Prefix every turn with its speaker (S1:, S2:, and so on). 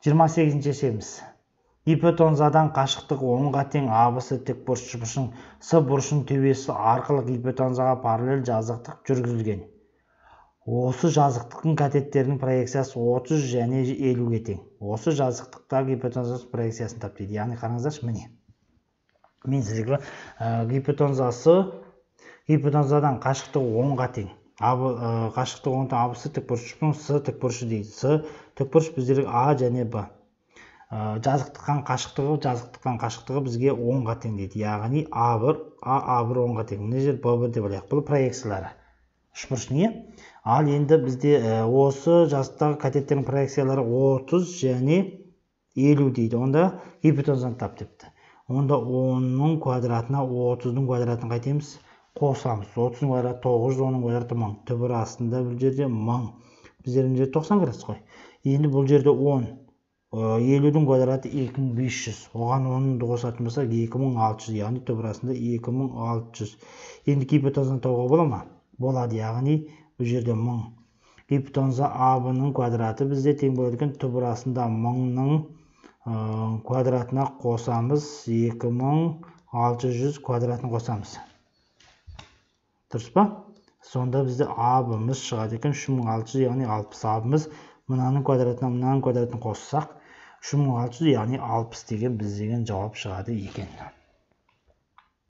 S1: 28-ші есебіміз. Гипотенузадан қашықтығы 10-ға тең ABC тікбұрышының С бұрышының төбесі арқылы гипотенузаға параллель жазықтық жүргізілген. Осы жазықтықтың катеттерінің проекциясы 30 және 50-ге тең. Осы жазықтықтағы гипотенузаның проекциясын тап дейді. Яғни қараңыздаршы, міне. Мен сізге гипотенузадан қашықтығы 10-ға тең. Қашықтығы 10-ға тең ABC тікбұрышының С тікбұрышы дейді. С тікбұрыш біздерге А және Б. Жазықтықтан қашықтығы бізге 10-ға тең дейді. Яғни А1 10-ға тең. Мына жер Б1 деп алайық. Бұл проекциялары. Үшбұрыш не? Ал енді бізде осы жазықтағы катеттердің проекциялары 30 және 50 дейді. Онда гипотенузаны тап депті. Онда 10-ның квадратына 30-ның квадратын қайтеміз? Қосамыз. 30-ның квадраты 900, 10-ның квадраты 1000. Түбір астында бұл жерде 1000. Біздердің жерде 90 градус қой. Енді бұл жерде 10. 50-дің квадраты 2500. Оған 10-ды қосатын болса 2600. Яғни түбір астында 2600. Енді гипотенузаны табуға бола ма? Болады. Яғни бұл жерде 1000. Гипотенуза А1-ның квадраты бізде тең болады екен. Түбір астында 1000-ның квадратына қосамыз. 2600 квадратын қосамыз. Дұрыс па? Сонда бізде А1-мыз шығады екен 3600, яғни 60. А1-мыз мынаның квадратына қоссақ 3600, яғни 60 деген біз деген жауап шығады екен.